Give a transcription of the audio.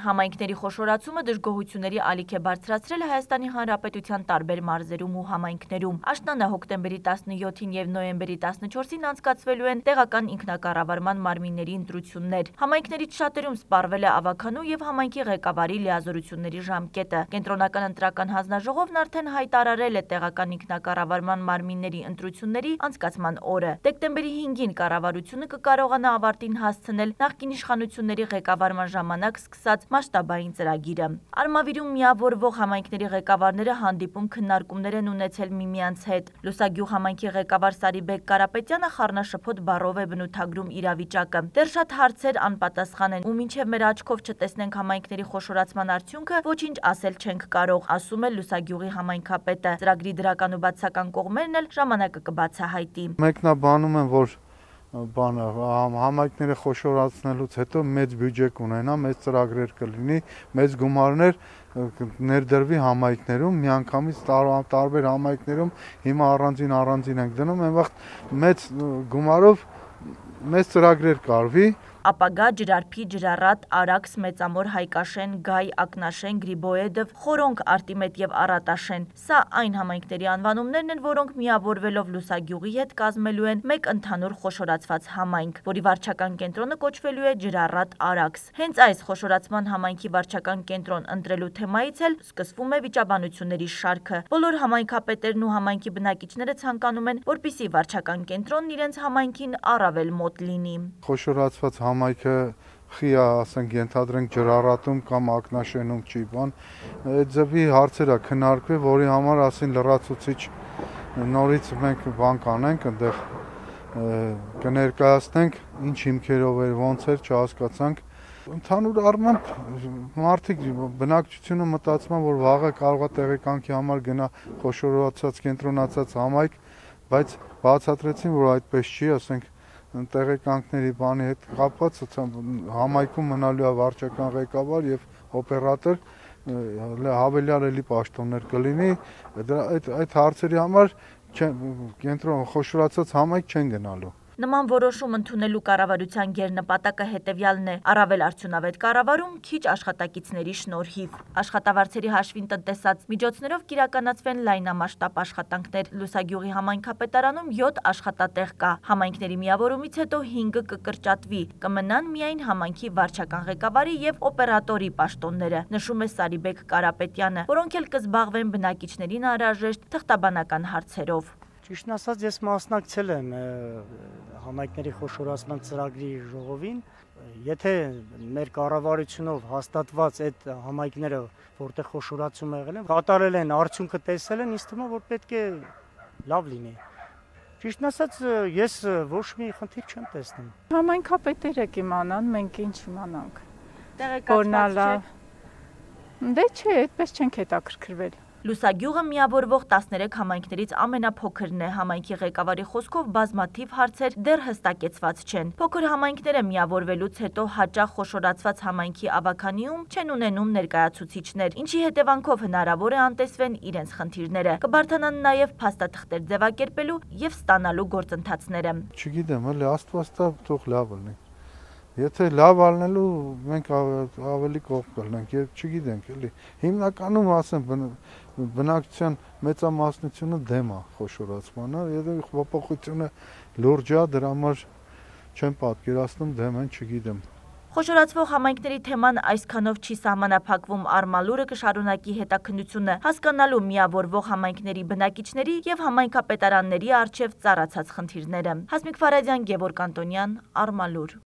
Համայնքների խոշորացումը դժգոհությունների ալիք է բարձրացրել Հայաստանի Հանրապետության տարբեր մարզերում ու համայնքներում։ Աշնանը հոկտեմբերի 17-ին և նոյեմբերի 14-ին անցկացվելու են տեղական ինքնակառավարման մարմինների ընտրություններ։ Համայնքներից շատերում սպառվել է ավագանու և համայնքի ղեկավարի լիազորությունների ժամկետը։ Կենտրոնական ընտրական հանձնաժողովն արդեն հայտարարել է տեղական ինքնակառավարման մարմինների ընտրությունների անցկացման օրը։ Դեկտեմբերի 5-ին կառավարությունը կկարողանա ավարտին հասցնել նախկին իշխանությունների ղեկավարման ժամանակ սկսած մասշտաբային ծրագիրը։ Արմավիրում միավորվող համայնքների ղեկավարները հանդիպում քննարկումներ են ունեցել միմյանց հետ։ Լուսագյուղ համայնքի ղեկավար Սարիբեկ Կարապետյանը խառնաշփոթ բառով է բնութագրում իրավիճակը։ Դեռ շատ հարցեր անպատասխան են, ու մինչև մեր աչքով չտեսնենք համայնքների խոշորացման արդյունքը, ոչինչ ասել չենք կարող, ասում է Լուսագյուղի համայնքապետը։ Ծրագրի դրական ու բացասական կողմերն էլ ժամանակը կբացահայտի։ Մեկնաբանում են, որ համայնքները խոշորացնելուց հետո մեծ բյուջե կունենա, մեծ ծրագրեր կլինի, մեծ գումարներ ներդրվի համայնքներում, միանգամից տարբեր համայնքներում հիմա առանձին ենք դնում, այն վաղ մեծ գումարով մեծ ծրագրեր կարվի։ Ապագա, Ջրարփի, Ջրառատ, Արաքս, Մեծամոր, Հայկաշեն, Գայ, Ակնաշեն, Գրիբոեդով, Խորոնք, Արտիմետ և Արատաշեն։ Սա այն համայնքների անվանումներն են, որոնք միավորվելով Լուսագյուղի հետ կազմելու են մեկ ընդհանուր խոշորացված համայնք, որի վարչական կենտրոնը կոչվելու է Ջրառատ Արաքս։ Հենց այս խոշորացման համայնքի վարչական կենտրոն ընտրելու թեմայից էլ սկսվում է վիճաբանությունների շարքը։ Բոլոր համայնքապետերն ու համայնքի բնակիչները ցանկանում են, որպեսզի վարչական կենտրոնն իրենց համայնքին առավել մոտ լինի։ Խոշորացված համայնքը խիա, ասենք, ենթադրենք Ջրառատում կամ Ակնաշենում չի բան, այդ ձևի հարցեր է քննարկվել, որի համար ասին լրացուցիչ նորից մենք բան կանենք, այնտեղ կներկայացնենք, ինչ հիմքերով էր, ոնց էր, չհասկացանք։ Ընդհանուր առմամբ մարդիկ բնակչությունը մտածում են, որ վաղը կարող է տեղեկանքի համար գնա խոշորացած կենտրոնացած համայնք, բայց բացատրեցին, որ այդպես չի, ասենք, տեղեկանքների բանի հետ կապված համայնքում մնալու է վարչական ղեկավար եւ օպերատոր, հավելյալ էլի պաշտոններ կլինի, այդ հարցերի համար կենտրոն խոշորացած համայնք չեն գնալու։ Նման որոշում ընդունելու կառավարության գերնպատակը հետևյալն է՝ առավել արդյունավետ կառավարում, քիչ աշխատակիցների շնորհիվ։ Աշխատավարձերի հաշվին տնտեսած միջոցներով կիրականացվեն լայնամասշտաբ աշխատանքներ։ Լուսագյուղի համայնքապետարանում 7 աշխատատեղ կա։ Համայնքների միավորումից հետո 5-ը կկրճատվի, կմնան միայն համայնքի վարչական ղեկավարի եւ օպերատորի պաշտոնները, նշում է Սարիբեկ Կարապետյանը, որոնք էլ կզբաղվեն բնակիչներին անհրաժեշտ թղթաբանական հարցերով։ Ճիշտն ասած, ես մասնակցել եմ համայնքների խոշորացման ծրագրի ժողովին։ Եթե մեր կառավարությունով հաստատված այդ համայնքները, որտեղ խոշորացում եղել են, կատարել են, արդյունքը տեսել են, ինձ թվում է, որ պետք է լավ լինի։ Ճիշտն ասած, ես ոչ մի խնդիր չեմ տեսնում։ Համայնքապետերը կիմանան, մենք ինչ իմանանք։ Տեղեկացված չեք։ Դե չէ, այդպես չենք հետաքրքրվել։ Լուսագյուղը միավորվող 13 համայնքներից ամենափոքրն է։ Համայնքի ղեկավարի խոսքով բազմաթիվ հարցեր դեռ հստակեցված չեն։ Փոքր համայնքները միավորվելուց հետո հաճախ խոշորացված համայնքի ավագանիում չեն ունենում ներկայացուցիչներ, ինչի հետևանքով հնարավոր է անտեսվեն իրենց խնդիրները։ Կբարդանան նաև փաստաթղթեր ձևակերպելու եւ ստանալու գործընթացները։ Չգիտեմ, էլի Աստված տա, թող լավ լինի։ Եթե լավ ալնելու մենք ավելի կողմ կլինենք, չգիտենք, էլի։ Հիմնականում ասեմ, բնակչության մեծամասնությունը դեմ է խոշորացմանը, եթե փոփոխությունը լուրջ է, դրա համար չեմ պատկերացնում դեմ են, չգիտեմ։ Խոշորացվող համայնքների թեման այսքանով չի սահմանափակվում, Արմալուրը կշարունակի հետաքննությունը, հասկանալու միավորվող համայնքների բնակիչների եւ համայնքապետարանների առջև ծառացած խնդիրները։ Հասմիկ Ֆարադյան, Գևորգ Անտոնյան, Արմալուր։